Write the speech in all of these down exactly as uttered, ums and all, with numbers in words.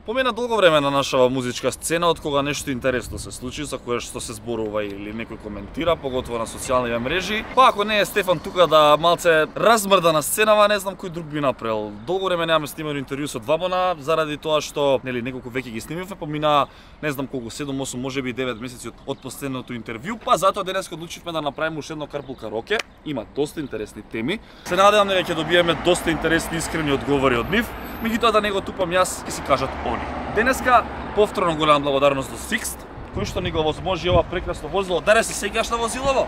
Помина долго време на нашава музичка сцена од кога нешто интересно се случи за кое што се зборува или некој коментира, поготово на социјалните мрежи. Па ако не е Стефан тука да малце размрда на сценава, не знам кој друг би направил. Долго време немаме снимано интервју со Двабона заради тоа што нели неколку веќе ги снимивме, помина не знам колку седум осум можеби девет месеци од, од последното интервју, па затоа денес одлучивме да направиме уште едно Карпул караоке. Има доста интересни теми. Се надевам дека ќе добиеме доста интересни искрени одговори од нив. Меѓутоа да не го тупам јас, ќе си кажат они. Денеска повторно голема благодарност до Sixt, кој што ни го возможи ова прекрасно возило. Даре се сеќаш на возилово?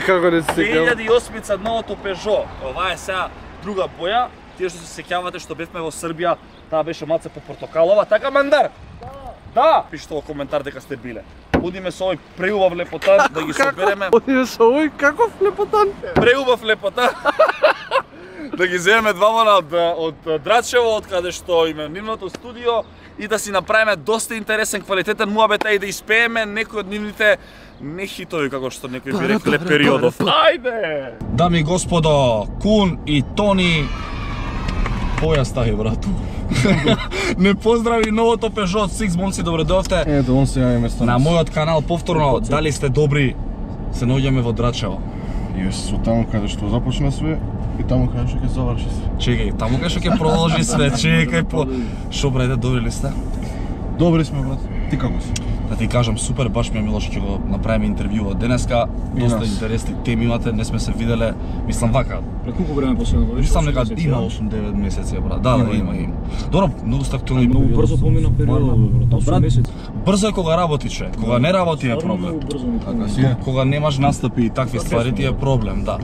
Како не се сеќам? две илјади и осма новото Peugeot. Ова е сега друга боја. Тие што се сеќавате што бевме во Србија, таа беше малце по портокалова, така Мандар? Да. Да, пишете во коментар дека сте биле. Одиме со овој преубав лепотан да ги собереме. Одиме со овој каков лепотан? Преубав лепотан. Да ги земеме Двабона од, од Драчево, од каде што име нивното студио и да си направиме доста интересен, квалитетен муабет и да испееме некои од нивните не хитови, како што некои би рекле периодов. Ајде! Дами и господо, Кун и Тони, поја стави, брату. Не поздрави новото Peugeot Sixt, момци, добре дојавте. Ето, он се јави место. На мојот канал повторно, дали сте добри, се наоѓаме во Драчево. Јас со таму каде што започна све и таму каде што ќе заврши све. Чекај, таму каде што ќе продолжи све, чекај по... Шо брајде, добри ли сте? Добри сме, брат. Ти како си? Да ти кажам, супер, баш ми е мило што ќе го направиме интервју од денеска. Доста интересни теми имате, не сме се виделе. Мислам вака. Пред колку време последно беше? Мислам дека има осум-девет месеци, брат. Да, да, има, има. Добро, многу сте актуелни. Многу брзо помина периодот, брат. осум месеци. Брзо е кога работи, че. Кога не работи е проблем. Така си е. Кога немаш настапи и такви ствари ти е проблем, да.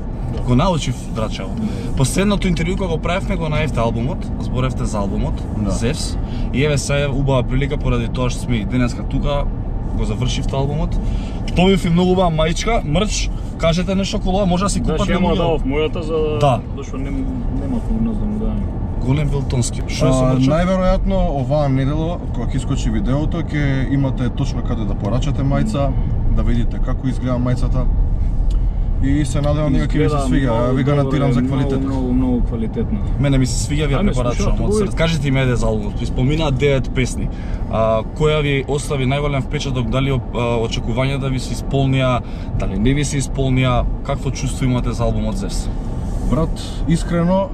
Го научив Драчево. Последното интервју кога го правевме го најавте албумот, зборевте за албумот, Зевс. И еве се убава прилика поради тоа што сме денеска тука, го завршивте албумот. Добив и многу убава маичка, мрч. Кажете нешто околу, може да си купат да луѓе. Да, дав мојата за да. Зашто не нема кога нас да му даде. Голем Вилтонски. Што е со мрчот? Најверојатно оваа недело кога ќе искочи видеото ќе имате точно каде да порачате мајца, да видите како изгледа мајцата. И се надевам дека ќе ви се свиѓа, ви гарантирам за квалитет. Многу, многу квалитетна. Мене ми се свиѓа, ви ја препорачувам од срце. Кажете ми еде за албумот, споминаа девет песни. А, која ви остави најголем впечаток, дали очекувањата ви се исполнија, дали не ви се исполнија, какво чувство имате за албумот Зевс? Брат, искрено,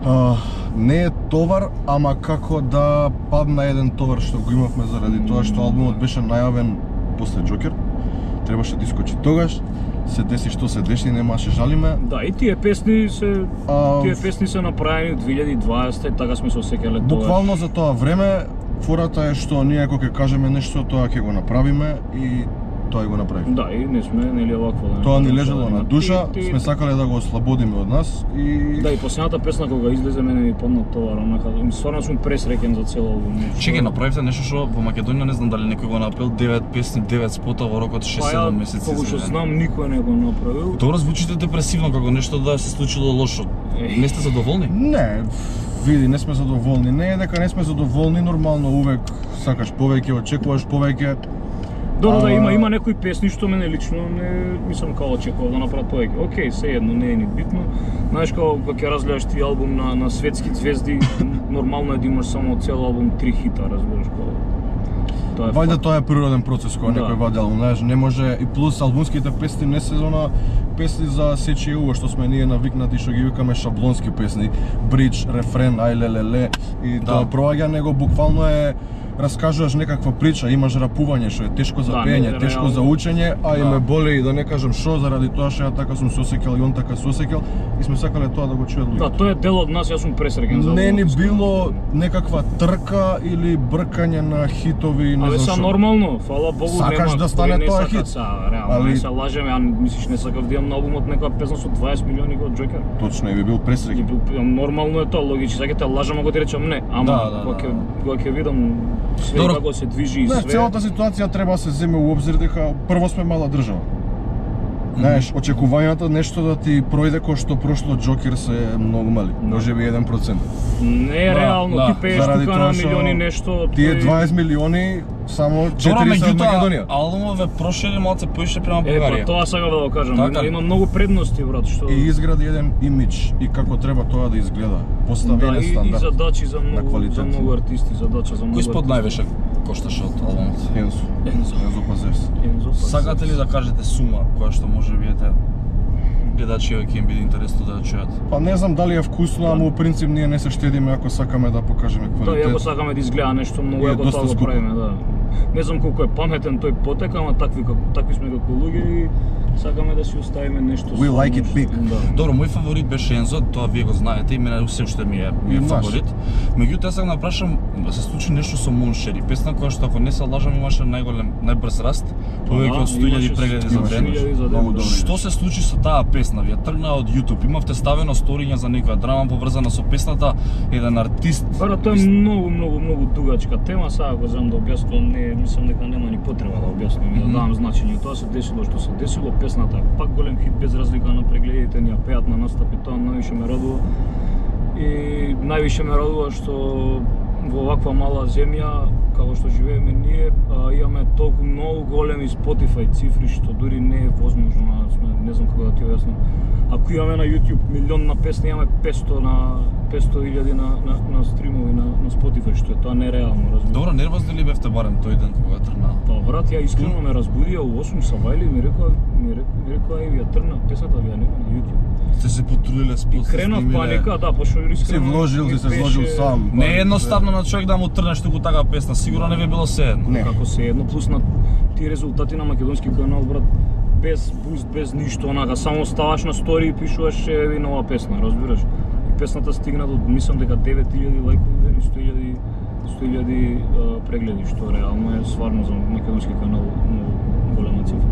а, не е товар, ама како да падна еден товар што го имавме заради тоа што албумот беше најавен после Джокер. Требаше да искочи тогаш, се деси што се деси, немаше жалиме. Да, и тие песни се а, тие песни се направени од две илјади и дваесета и така сме се осеќале тоа. Буквално за тоа време, фората е што ние кога ќе кажеме нешто, тоа ќе го направиме и тоа и го направиме. Да, и не сме нели овакво да. Тоа ни лежало на душа, ти, ти... сме сакале да го ослободиме од нас и да, и последната песна кога излезе мене ми падна товар, онака, стварно сум пресреќен за цел албум. Чекај, направивте нешто што во Македонија не знам дали некој го направил, девет песни, девет спота во рок од шест-седум месеци. Колку што знам, никој не го направил. Добро, звучите депресивно, како нешто да се случило лошо. Не сте задоволни? Не, види, не сме задоволни. Не е дека не сме задоволни, нормално увек сакаш повеќе, очекуваш повеќе. Добро, а... да има има некои песни што мене лично не мислам како очекував да направат повеќе. Океј, се едно не е ни битно. Знаеш како кога ќе разгледаш ти албум на на светски звезди, нормално е да имаш само цел албум три хита, разбираш како. Тоа е Вајде тоа е природен процес кога да. Некој вади албум, знаеш, не може и плюс албумските песни не се зона песни за сечи уво што сме ние навикнати што ги викаме шаблонски песни, бридж, рефрен, ајлелеле и да. Тоа проаѓа него буквално е раскажуваш некаква прича, имаш рапување што е тешко за пеење, да, тешко за учење, а и да. Ме боле и да не кажам што заради тоа што ја така сум се осеќал и он така се осеќал и сме сакале тоа да го чујат луѓето. Да, тоа е дел од нас, јас сум пресреќен за. Не ни било некаква трка или бркање на хитови, не знам што. Але са нормално, фала Богу, сакаш нема да стане тоа хит. Са, реално, али... не се лажеме, а мислиш не сакав да имам на албумот некоја песна со дваесет милиони од Джокер. Точно, и би бил пресреќен. Нормално е тоа, логично, сакате лажам ако ти речам не, ама кога ќе кога ќе видам све како се движи и све. Целата ситуација треба да се земе у обзир дека прво сме мала држава. Знаеш, очекувањата нешто да ти пројде кој што прошло Джокер се многу мали, можеби еден процент. Не е реално, да, ти пееш тука на милиони нешто. Тие дваесет милиони само четири се од Македонија. Албумове прошири малце поише према Бугарија. Е, па тоа сега да го кажам, така? има, има многу предности, брат, што И изгради еден имидж и како треба тоа да изгледа. Поставен да, е и, стандард. и задачи за многу за многу артисти, задача за многу. Кој спод највеше кошташе од албумот? Ензо. Ензо. Ензо Пазес. Ензо Пазес. Сакате ли да кажете сума која што може би ете гледачи ќе им биде интересно да ја чујат? Па не знам дали е вкусно, ама во принцип ние не се штедиме ако сакаме да покажеме Да, квалитет. ако сакаме да изгледа нешто многу, И е ако доста тоа го скупо. правиме, да. Не знам колку е паметен тој потек, ама такви како такви сме како луѓе и сакаме да си оставиме нешто. We со like it нешто, big. Да. Добро, мој фаворит беше Ензо, тоа вие го знаете и мене се уште ми е, ми е И наш. фаворит. Меѓутоа сакам да прашам да се случи нешто со Моншери, песна која што ако не се лажам имаше најголем најбрз раст, повеќе од сто илјади прегледи за имаше ден. илјади за ден. Многу добро. Што се случи со таа песна? Вие тргна од YouTube, имавте ставено сториња за некоја драма поврзана со песната, еден артист. Пара, тоа е многу, многу, многу дугачка тема, сега го знам да објаснувам, не, мислам дека нема ни потреба да објаснувам и да давам значење. Тоа се десило што се десило, песната е пак голем хит без разлика на прегледите, ни ја пеат на настапи, тоа највише ме радува. И највише ме радува што во оваква мала земја, како што живееме ние, а, имаме толку многу големи Spotify цифри што дури не е возможно, сме, не знам како да ти објаснам. Ако имаме на YouTube милион на песни, имаме петсто на петсто илјади на, на, на стримови на, на Spotify, што е тоа нереално, разбираш. Добро, нервозни ли бевте барем тој ден кога тргна? Па брат, ја искрено ме разбудија у осум сабајли и ми рекоа, ми рекоа, ми рекоа, е, ја тргна песната, ја нема на YouTube. Сте се потрудиле спот. И кренав паника, да, пошто искрено Си вложил, ми си се сложил беше- сам. Не е едноставно на човек да му трнеш туку така песна, сигурно не би било се едно. Не. Како се едно, плюс на тие резултати на македонски канал, брат, без буст, без ништо, онака, само ставаш на стори и пишуваш еви нова песна, разбираш? И песната стигна до, мислам дека девет илјади лајкови и сто илјади сто илјади прегледи, што реално е сварно за македонски канал многу голема цифра.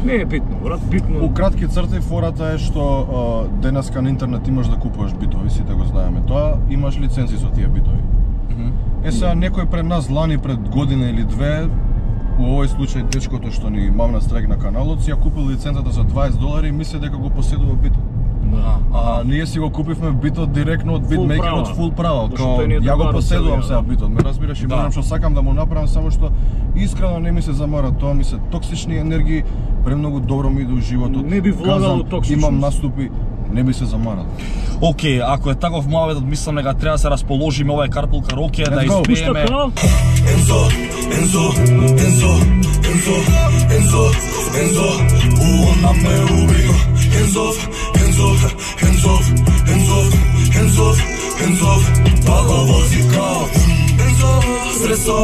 Не е битно, брат, битно. У кратки црти фората е што а, денеска на интернет имаш да купуваш битови, сите го знаеме тоа, имаш лиценци со тие битови. Е сега некој пред нас лани пред година или две, во овој случај дечкото што ни мамна страйк на каналот, си ја купил лиценцата за дваесет долари и мисли дека го поседува битот. Да. А ние си го купивме битот директно од Full битмейкерот права. фул право, Зашто као тој не е ја го другар од поседувам целиот, сега да. битот, ме разбираш и Да. барам што сакам да му направам, само што искрено не ми се замара тоа, ми се токсични енергии, премногу добро ми иде у животот. Не би влагал Казам, у токсичност. имам наступи, не би се замарал. Океј, ако е таков муабетот, мислам дека треба да се расположиме ова е Карпул Кароке, да Let's go. Пушта испееме. крал? Enzo, Enzo, Enzo, Enzo, Enzo, Enzo, ona me ubio. Enzo, Enzo, Enzo, Enzo, Enzo, Enzo, pago vozi kao. Enzo, streso,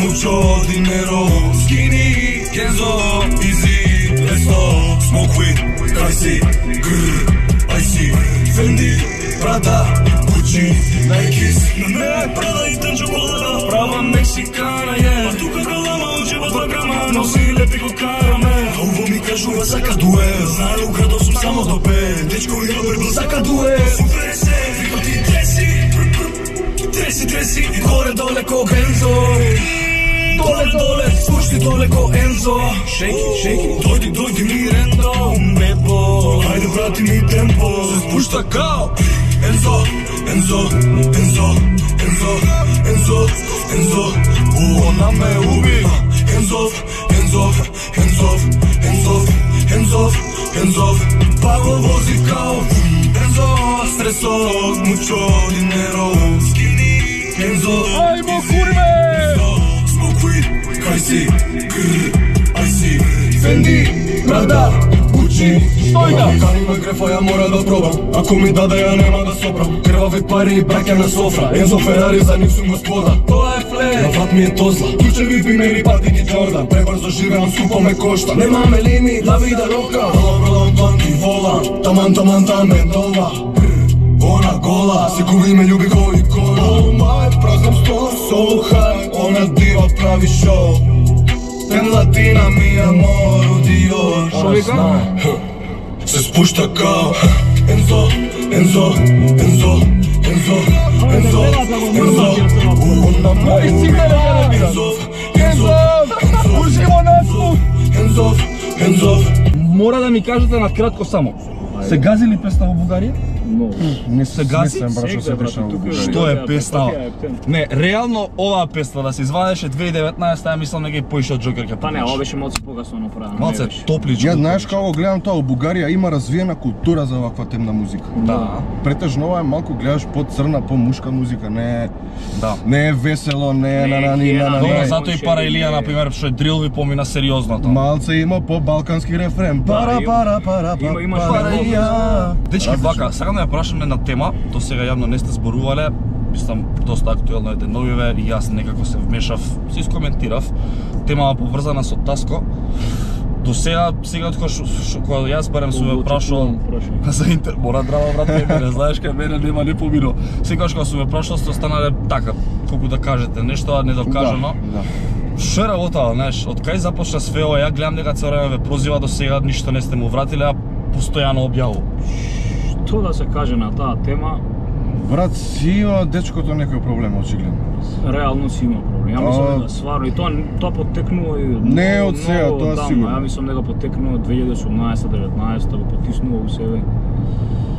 mucho dinero. Skinny, Enzo, easy, let's go. Smoke weed, I see, grrr, I see. Fendi, Prada, Gucci, Nikes. На me Prada и тен чоколада. Права мексикана е. А тука галама учева два грама. Носи лепи го караме. А уво ми кажува сака дуел. Знае у градот сум само до пет. Дечко и добре бил сака дуел. Супре се, вика ти треси. Треси, треси и горе доле ко Ензо. Доле, доле, спушти доле ко Ензо. Шейки, шейки, дојди, дојди ми рендо. Бебо, ајде брати ми темпо. Се спушта као Enzo, Enzo, Enzo, Enzo, Enzo, Enzo, ona me ubi. Enzo, Enzo, Enzo, Enzo, Enzo, Enzo, pago vozi kao Enzo, streso, mucho dinero. Skinny, Enzo, Ajmo kurve! Enzo, smoke weed, I see, grrr, I see. Fendi, Prada, Gucci, Стојка! Кани ме грефа, ја мора да пробам. Ако ми даде, ја нема да сопрам. Крвави пари и браќа на софра. Ензо Ферари, за нив сум господа. Тоа е флер, на врат ми е тозла. Ключеви бимери, патики Джордан. Пребрзо живеам, скупо ме кошта. Немаме лимит, ла вида рока. Ала бродам банки, волан. Таман, таман, тамен, това. Она гола, се губи ме љуби ко икона. Oh my, празнам стол, so high. Она дива прави шоу. Пен латина ми амор, Dior. Шо вика? Se spушта као Enzo, Enzo, Enzo, Enzo, Enzo, Enzo, ona me ubi. Enzo, Enzo, Уживо на звук! Enzo, Enzo, мора да ми кажете на кратко само. Се гази ли песна во Бугарија? Но. Не се гази? Не се брашо се дешава во Бугарија. Што е песна? Не, реално оваа песна да се извадеше две илјади и деветнаесета, ја мислам дека и поише од Джокер ќе Па не, ова беше малку покасно направено. Малце топличко. Ја знаеш како гледам тоа, во Бугарија има развиена култура за ваква темна музика. Да. Претежно ова е малку гледаш по-црна, по-мушка музика, не е Да. не е весело, не е на на ни на на. Добро, ни. затоа и Пара Илија на пример што е дрил ви помина сериозно тоа. Малце има по-балкански рефрен. Пара има- пара пара има- имаш пара много Илија. Дечки, вака, сакам да ја прашам една тема, до сега јавно не сте зборувале, мислам доста актуелно е деновиве и јас некако се вмешав, се искоментирав, темава поврзана со Таско. До сега, сега кога кога јас барем сум ме прашал за интер, мора драма брате, мене знаеш кај мене нема не помино. Секогаш кога сум ме прашал сте останале така, колку да кажете нешто а недокажано. Да. Што е работа, знаеш, од кај започна све ова, ја гледам дека цело време ве прозива, до сега ништо не сте му вратиле, а постојано објавува. Што да се каже на таа тема, Брат, си има дечкото некој проблем очигледно. реално си има проблем. Ја мислам дека сварно и тоа тоа потекнува и Не е од многу- сега, многу тоа одамна. сигурно. Ја мислам дека потекнува од две илјади и осумнаесета деветнаесета го потиснува у себе.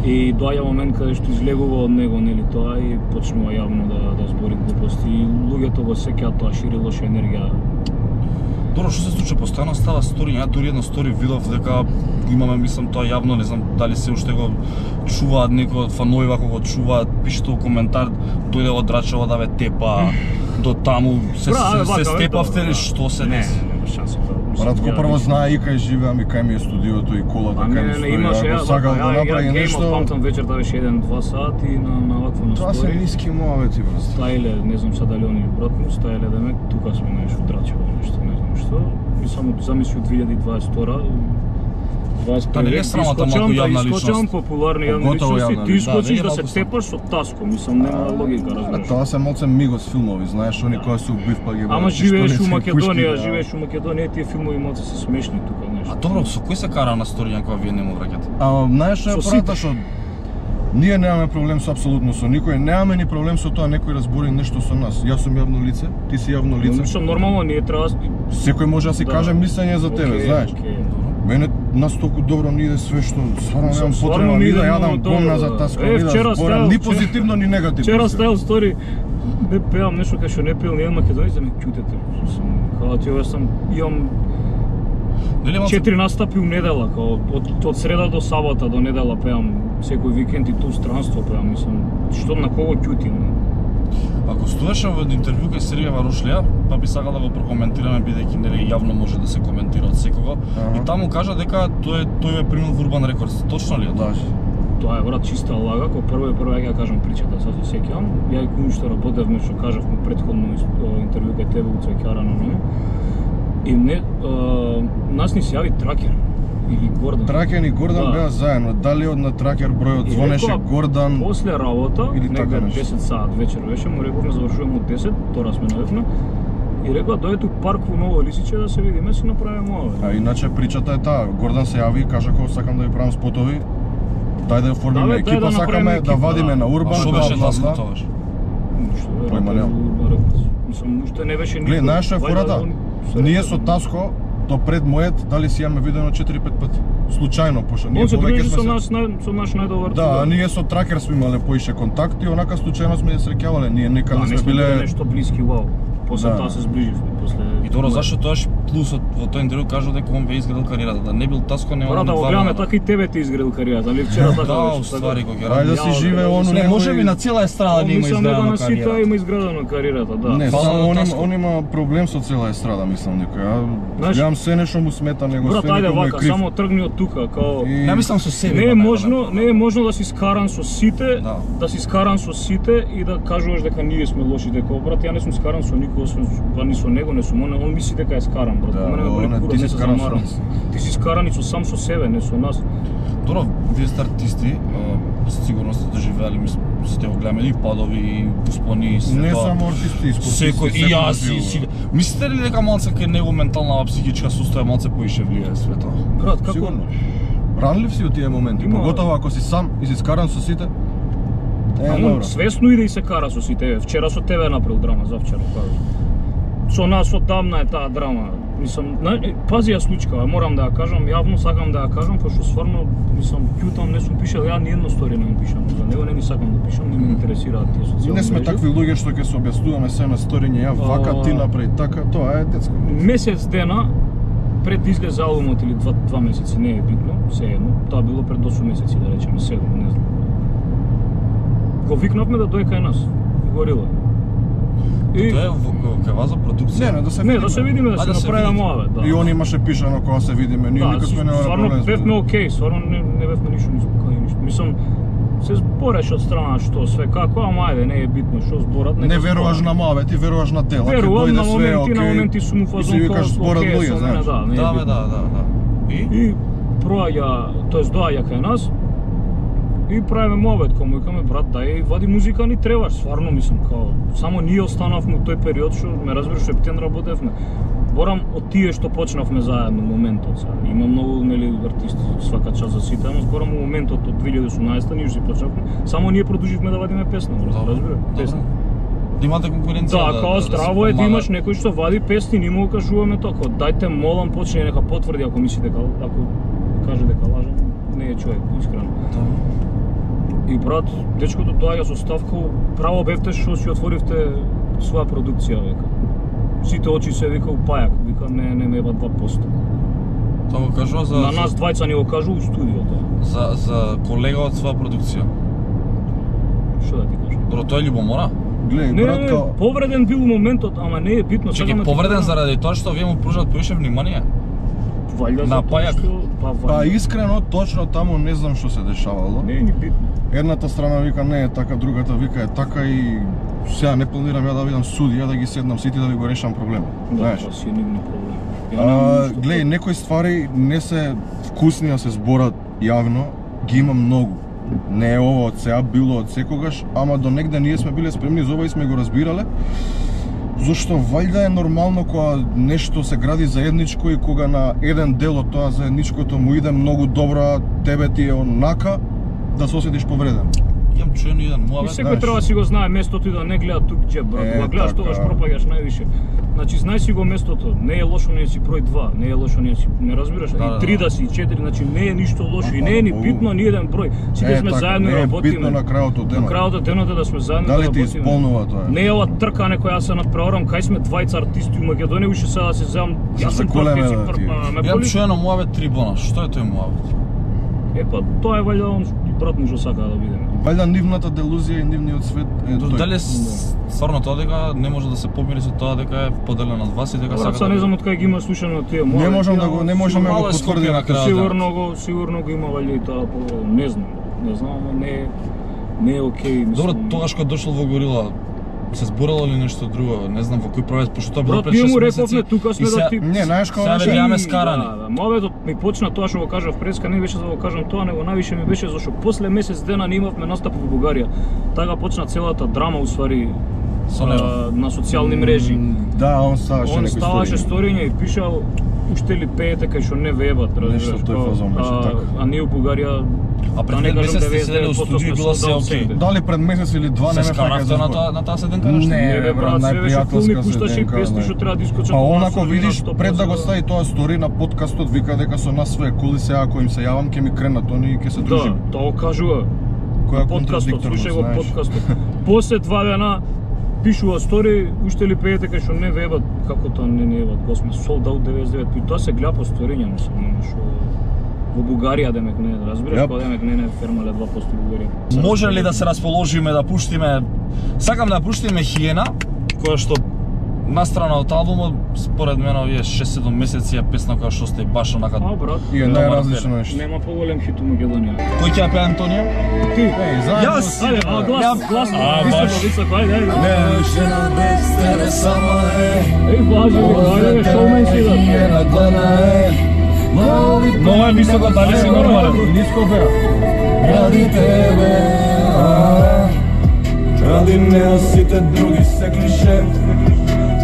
И доаѓа момент каде што излегува од него, нели тоа и почнува јавно да да збори глупости и луѓето го сеќаат тоа, шири лоша енергија. Добро, што се случи, постојано става стори, ја дури едно стори видов дека го имаме, мислам, тоа јавно, не знам дали се уште го чуваат некои од фанови вако го чуваат, пишете во коментар, дојде од Драчево да ве тепа, до таму се, Бра, се, вака, се бе, степавте добро, ли, да. што се Не, деси? нема шанса тоа. Мислам, Брат, ко ја прво ништо- знае и кај живеам и кај ми е студиото и колата, А кај ми не, не, стои, имаше, ако ја, сакал да ја, направи ја, нешто. Game of памтам вечерта беше еден-два сати на, на вакво Тоа се настори. ниски муавети, брат. Стајле, не знам сега дали они брат му, стајле демек, тука сме најш удрачево нешто, не знам што. И само замисли од две илјади и дваесет втора, дваесет Та не е срамота малку јавна искочам личност. популарни јавни Поготово личности, јавна ти личност. искочиш Да, да не е се малку тепаш со Таско, мислам нема логика, А разбираш. тоа се малце мигос филмови, знаеш, они кои се убив па ги Ама вадат живееш пиштолици у и Македонија, пушки, да. живееш у Македонија, тие филмови малце се смешни тука А нешто. добро, со кој се кара на сторија кога вие не му враќате? А знаеш што е Со прата што ние немаме проблем со апсолутно со никој, немаме ни проблем со тоа некој разбори нешто со нас. Јас сум јавно лице, ти си јавно лице. Мислам нормално ние треба Секој може да си Да. каже мислење за тебе, Океј, знаеш. океј. Мене нас толку добро ни иде све што стварно Мислам, немам стварно потреба ни ни иде да јадам многу добро, гомна за да. Таско, Е, ни да вчера зборам стајал- ни позитивно ни негативно. Вчера се. стајал стори, не пеам нешто кај што не пеел ни еден македонец да ме ќутете. Као ти јас сам имам Нели малце четири настапи у недела, као од од среда до сабота до недела пеам секој викенд и ту странство пеам, мислам, што на кого ќутим? ако стоеше во интервју кај Сергеј Варушлија, па би сакал да го прокоментираме бидејќи нели јавно може да се коментира од секого. Ага. И таму кажа дека тој тој е примил во Урбан Рекордс. Точно ли е тоа? Да. Тоа е брат чиста лага, кога прво и прво ја кажам причата, сега се сеќавам. Ја и кој што работевме, што кажавме претходно интервју кај тебе у Цвеќара на Номо. И не, а, нас ни се јави Тракер и Гордан. Тракен и Гордан Да. беа заедно. Дали од на Тракер бројот И звонеше рекоа, Гордан? После работа, Или така негде нешто. десет саат вечер беше, му рековме завршуваме од десет, тора сме најавна. И рекоа дојде у парк во Ново Лисиче да се видиме, си направиме ова. А иначе причата е таа. Гордан се јави и кажа како сакам да ви правам спотови. Дај да ја Да, оформиме бе, дај екипа, да сакаме направиме да екипа, вадиме да. на А Урбан. што бла, беше бла, Таско бла. тогаш? Ништо, бе, Појма работи немам. во Урбан Рекордс. Мислам, уште не беше никој. Гледај, знаеш што е Вајда фората? он се Ние рекол, со Таско до пред мојот дали си јаме видено четири-пет пати. Случајно, пошто ние Он се повеќе дружи сме со се. наш нај- со наш најдобар Да, а друг. ние со Тракер сме имале поише контакти, онака случајно сме ја среќавале. Ние Да, некаде не сме сме биле биле нешто блиски, вау. После Да. тоа се зближивме, после. И добро, зашто тоаш плюсот во тој интервју кажа дека он ве изградил кариерата, да не бил Таско не Мора да го гледаме така и тебе ти изградил кариерата, али вчера така Да, беше, уствари кога ќе Ајде да ради. си Ја, живее да, он у не, Не, него може и- би на цела естрада да има Мислам дека изградена на сите кариера. има изградена кариерата, да. Не, Фала само на он има, Таско. он има проблем со цела естрада, мислам некој. Ја Знаеш- гледам се нешто му смета него, Брат, све ајде некој му е вака, крив. само тргни од тука, као И- Не мислам со себе. не е да, можно, да, не е можно да си скаран со сите, Да. да си скаран со сите и да кажуваш дека ние сме лоши, дека брат ја не сум скаран со никој освен па ни со него, не сум он, он мисли дека е скаран, брат. Да, По мене ме боли он е, кура, ти си не се скаран со замарам. нас. Ти си скаран и со сам со себе, не со нас. Добро, вие сте артисти, а, сигурно сте доживеали, мислам, сте го гледаме и падови, и успони, и све Не тоа. само артисти, и спортисти. Секој и секој јас живо. и си. Мислите ли дека малце кај него ментална психичка состоја малце поише влијае све тоа? Брат, како Сигурно. Ранлив си у тие моменти, Има- поготово ако си сам и си скаран со сите. Е, А он добро. свесно иде и се кара со сите. Вчера со тебе направил драма, завчера кажа. со нас одамна е таа драма. Мислам, пази ја случка, морам да ја кажам, јавно сакам да ја кажам, пошто стварно, мислам, ќутам, не сум пишал, ја ни едно стори не му пишам, за него не ни сакам да пишам, не ме интересираат тие социјални Не сме мрежи. такви луѓе што ќе се објаснуваме се на сториње, ја вака, ти направи така, тоа е детско. Месец дена пред да излезе албумот или два, два месеци, не е битно, се едно, тоа било пред осум месеци, да речеме, седум, не знам. Го викнавме да дојде кај нас, горила. И... Тоа е кај вас за продукција? Не, не, да се Не, видиме. да се видиме, да А, се да се направиме видите. моаве, да. И он имаше пишано кога се видиме, ние Да, никакво нема стварно проблем. бевме окей, стварно не, не бевме ништо ни спокојни ништо. Мислам, се збореше од страна што све како, ама ајде, не е битно што зборат, нека Не веруваш зборат. на маве, ти веруваш на дела. Верувам на све, моменти, на окей, моменти сум у и си фазон викаш зборат окей, луѓе, со мене, знаеш. да, не е Да, бе, битно. да, да, да. И? И проаѓа, тоест доаѓа кај нас и правиме мовет, кога му викаме брат, дај вади музика ни требаш, стварно мислам као само ние останавме у тој период што ме разбираш септен работевме. Борам од тие што почнавме заедно моментот сега. Има многу нели артисти свака час за сите, ама зборам у моментот од две илјади и осумнаесета ние си почнавме, само ние продолживме да вадиме песна, разбираш? Песна. Да имате конкуренција. Да, као здраво е да имаш некој што вади песни, ни му го кажуваме тоа, дајте молам почне нека потврди ако мисли дека ако каже дека лажам, не е човек, искрено. И брат, дечкото доаѓа со ставка, право бевте што си отворивте своја продукција, века. Сите очи се вика у пајак, вика не не ме еба два посто. Тоа го кажува за На нас двајца ни го кажу у студиото. за за колега од своја продукција. Што да ти кажам? Добро, тоа е љубомора? Гледај, Не, брат, не, као... повреден бил у моментот, ама не е битно. Чеки, сакам да ти повреден кажам, заради тоа што вие му пружат повише внимание? ваljda на затоа пајак. што- Па, Па ваljda. искрено, точно таму не знам што се дешавало. Не е ни битно. Едната страна вика не е така, другата вика е така и сега не планирам ја да видам судија да ги седнам сите да ви го решам проблемот. Да, Знаеш? тоа си е нивни проблем. Ја А, немам ништо гледај, некои ствари не се вкусни да се зборат јавно, ги има многу. Не е ова од сега, било од секогаш, ама до негде ние сме биле спремни за ова и сме го разбирале. Зошто ваljda е нормално кога нешто се гради заедничко и кога на еден дел од тоа заедничкото му иде многу добро, а тебе ти е онака, да се осетиш повреден. Имам чуен еден И муавет. секој знаеш. треба да си го знае местото и да не гледа тук джеб, брат. Е, Кога гледаш така. тогаш пропаѓаш највише. Значи знај си го местото, не е лошо не си број два, не е лошо не си, не разбираш, Да, да, и три да. да си, и четири, значи не е ништо лошо и не е ни Ау. битно ни еден број. Сите Е, сме така, заедно и не е работиме. битно на крајот од денот. На крајот од денот е да сме заедно Дали да ти работиме. исполнува тоа? Не е ова тркане која јас се надпреварам, кај сме двајца артисти у Македонија, уште сега да се земам, Се јас сум заколеме, прв, ти си да, прв, ти. па ме Имам боли. чуено муавет три бона. Што е тој муавет? Е па тоа е ваljda он и брат му што сака да видиме. Ваljda нивната делузија и нивниот свет е тој. Дали с- стварно тоа дека не може да се помири со тоа дека е поделен од вас и дека Брат, сака сега да не знам од кај ги има слушано тие муавети. Не можам да ама го не можеме да Мало го е потврдиме Скопје на крајот. Сигурно го, сигурно го има ваljda и тоа по не знам. Не знам, ама не е не е окей, мислам. Добро, тогаш кога дошол во Горила, се зборало ли нешто друго? Не знам во кој правец, пошто тоа било Брат, пред ние шест му месеци. рековме тука сме и да се- ти Не, знаеш како Сега беше? ве гледаме И, скарани. Да, да, моведот ми почна тоа што го кажав преска, не беше за да го кажам тоа, него највише ми беше зашто после месец дена не имавме настап во Бугарија. Така почна целата драма уствари Со него. а, на социјални мрежи. Да, он ставаше Он некои ставаше сториња. сториња и пишал уште ли пеете кај што не вебат, разбираш. Нешто тој као, фазон беше, а, така. А ние у Бугарија А пред да не кажам месец сте седеле у деветдесет девет студио и било се соld out окей. сите. Дали пред месец или два не Се ме фаќа скаравте за на збор. таа на таа седенка нешто? Не, Не бе брат, брат, се беше кул, ми најпријателска пушташе и седенка, песни знаеш. што треба да искочат. Па од он нас, ако или видиш на пред да го сто стави тоа стори на подкастот вика дека со нас све е кул и сега ако им се јавам ќе ми кренат они и ќе се Да, дружиме. тоа го кажува. Која Подкастот, контрадикторност, слушај го знаеш. подкастот. После два дена пишува стори, уште ли пеете кај што не вебат, како тоа не не вебат, го сме sold out деветдесет и девет, и тоа се гледа по сториња, мислам, нема што во Бугарија демек не, разбираш, Јап. кога демек не не фермале два посто Бугарија. Може ли да се расположиме да пуштиме, сакам да пуштиме Хиена, која што настрана од албумот, според мене овие шест-седум месеци е песна која што сте баш онака. А брат, И е Добар најразлично нешто. нема поголем хит у Македонија. Кој ќе ја пее Антонија? Ти, Еј, заедно Јас! си, ајде, а бе. глас, Ја- глас, А, високо, баш. високо, ајде, ајде. Не, жена без тебе сама е. Еј, влажи, ајде, бе, шоумен си да. Хиена глана е. Моли Много е високо, дали си нормален? Ниско беа. ради тебе, а, ради неа сите други се клише.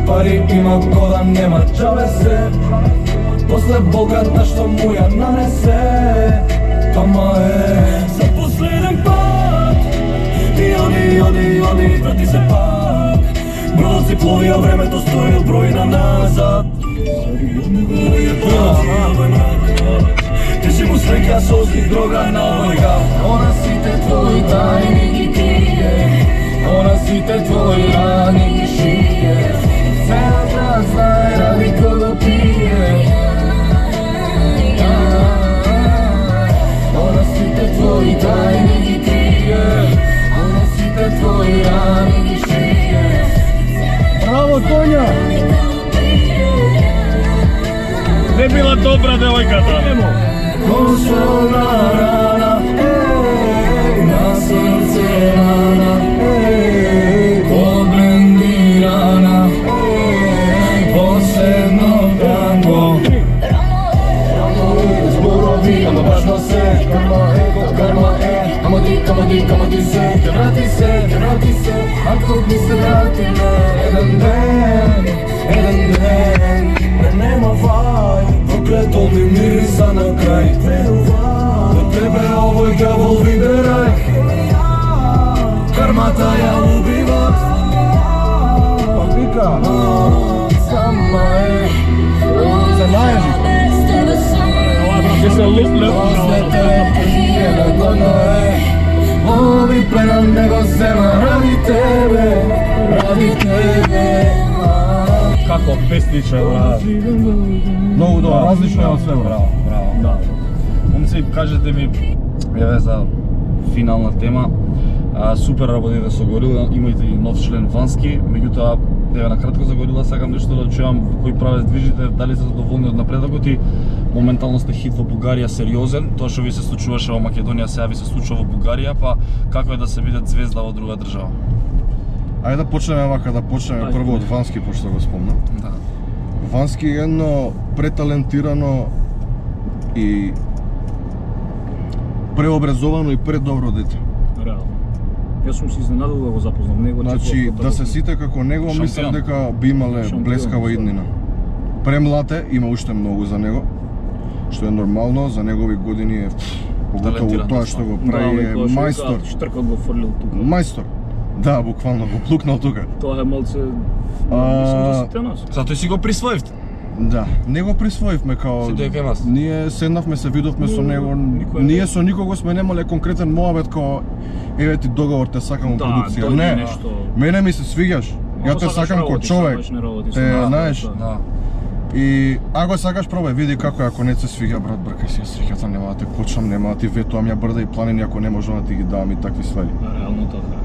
Пари има кода нема джабе се. После болката што му ја нанесе, тама е за последен пат. И оди, оди, оди, врати се пак. Бродот си плови, а времето стои бројна назад. Ти си му среќа сосни дрога на овој гав. Она сите твои тајни ги крие, она сите твои рани ги шие. Целиот град знае ради кого пие. Она сите твои тајни ги крие, она сите твои рани ги шие. Браво, Тоња! Не била добра девојката. Немо. Консолна рана, еј, на срце рана, еј, поблендирана, еј, последно танго. Зборови, ама важно се, карма е, код карма е, ама ти, ама ти, ама ти се, ке врати се, ке врати се, ако ми се вратиме, еден ден, еден ден, не нема вај. Проклето ми мириса на крај. До тебе овој ѓавол виде рај. Кармата ја убива. Вика, Сама е. се најажи. Ќе се лупле. Ови пленам не го зема ради тебе, ради тебе. Како песниче, брат. Многу добро, различно е од све, браво. Браво. Да. Момци, кажете ми, еве за финална тема. А, супер работите со Горила, имајте и нов член Вански, меѓутоа, еве на кратко за Горила сакам нешто да чуам кои правец движите, дали се задоволни од напредокот и моментално сте хит во Бугарија сериозен, тоа што ви се случуваше во Македонија сега ви се случува во Бугарија, па како е да се биде звезда во друга држава? Ајде да почнеме вака, да почнеме прво од Вански, пошто го спомна. Да. Вански е едно преталентирано и преобразовано и предобро дете. Реално. Јас сум се изненадил да го запознам него. Значи, да се сите како него, Шампион. мислам дека би имале Шампион, блескава да. иднина. Премлад е, има уште многу за него, што е нормално, за негови години е, поготово Талентиран, тоа што го Да, прави е мајстор. Штркот го фрлил тука. Мајстор. Да, буквално го плукнал тука. Тоа е малце... А, Мислам за сите нас. Затоа си го присвоивте. Да, не го присвоивме као... Си дојде кај вас? Ние седнавме, се видовме со Но, него, никој не- ние со никого сме немале конкретен моабет као еве ти договор, те сакам во Да, продукција. дојде Не, нешто. мене ми се свиѓаш. Ја Ако те сакаш сакам ко работиш, човек. сакаш не работиш, Те, да, знаеш, да. Да. и ако сакаш пробај, види како е, ако не се свиѓа, брат, бркај си ја среќата, нема да те кочам, нема да ти ветувам, ја брда и планини, ако не можам да ти ги давам и такви ствари. Да, реално така.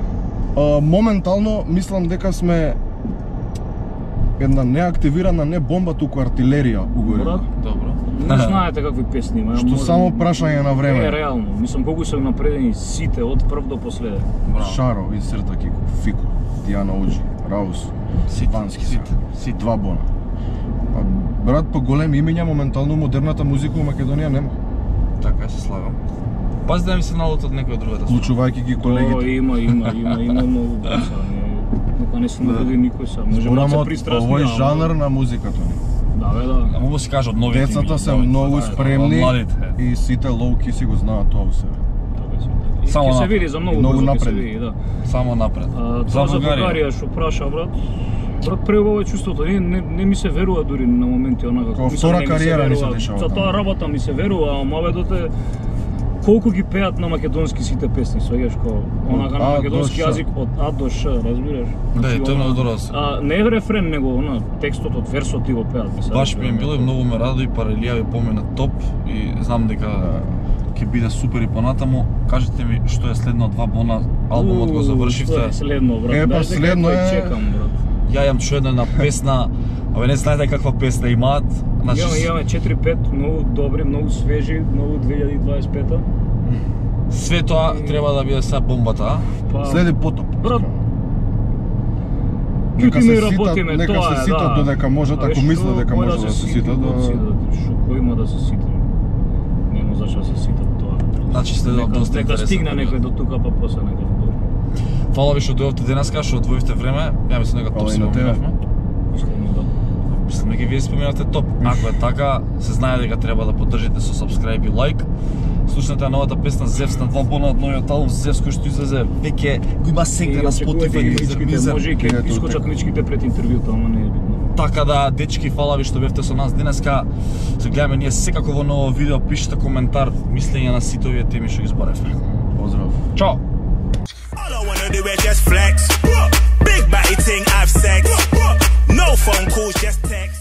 А, моментално мислам дека сме една неактивирана не бомба, туку артилерија угоре. Брат, Добро. не знаете какви песни има. Што може- само прашање на време. Не, реално. Мислам колку се напредени сите од прв до последен. Браво. Шаро, Инсерта Кико, Фико, Дијана Оджи, Раус, Сите, Вански сите, сега. сите. Два бона. А, брат, по големи имиња моментално модерната музика во Македонија нема. Така е, се слагам. Пази да ми се налут од некој од другата страна. Вклучувајќи ги О, колегите. има, има, има, има многу баса. Нека не се наводи никој сам. Може Зборам малце од пристрасни. овој ама- жанр на музиката ни. Да, бе, да. Ама се каже од новите. Децата ми, се новите, многу да, спремни од младите. и сите лоуки си го знаат тоа во себе. Така си, така. И Само ќе се напред. види за многу Многу брзо ќе се напред. види, да. Само напред. А, За тоа за Бугарија. Бугарија што праша, брат. Брат, преубаво е чувството. Не, не, не ми се верува дури на моменти онака. Као Мислам, втора не ми се кариера ни се верува. дешава За таму. таа работа ми се верува, а маведот е колку ги пеат на македонски сите песни, сваѓаш како онака на А до македонски Ш. јазик од А до Ш, разбираш? Да, и тоа е она- многу добро. А не е рефрен, него она текстот од версот ти го пеат. ми се Баш ми е разбира. било и многу ме радои, Парелија ви помина топ и знам дека ќе биде супер и понатаму. Кажете ми што е следно два бона, албумот го Уу, завршивте. што е следно, брат. Е, па, Дај дека следно тој е- чекам, брат. Ја имам чуено една песна, абе не знаете каква песна имаат. Значи, Имаме, имаме четири пет многу добри, многу свежи, многу две илјади и дваесет и пета. све тоа треба да биде сега бомбата, а? Па, Следи потоп. брат, Нека чутиме и се ситат, работиме, нека тоа се е, ситат да. додека можат, Абе, ако мислат што, дека кој може да се ситат, да- да... Што кој има да се ситат? Нема зашто да се ситат тоа. Значи следува Нека- доста Нека интересна стигне период. некој до тука, па после нека збори. Фала ви што дојдовте денеска, што одвоивте време. Ја мислам дека топ Фала и си на го тебе. минавме. Искрено да. Мислам дека вие споменавте топ. Ако е така, се знае дека треба да поддржите со subscribe и лайк. Слушнете новата песна Зевс на два бона од новиот албум Зевс кој што излезе веќе го има сегде на Spotify и Може и ќе Deezer. искочат личките пред интервјуто, ама не е битно. Така да, дечки, фала ви што бевте со нас денеска. Се гледаме ние секако во ново видео, пишете коментар, мислење на сите овие теми што ги зборевме. Поздрав. Чао! All I wanna do is just flex. Big batty ting, have sex. No phone calls, just text.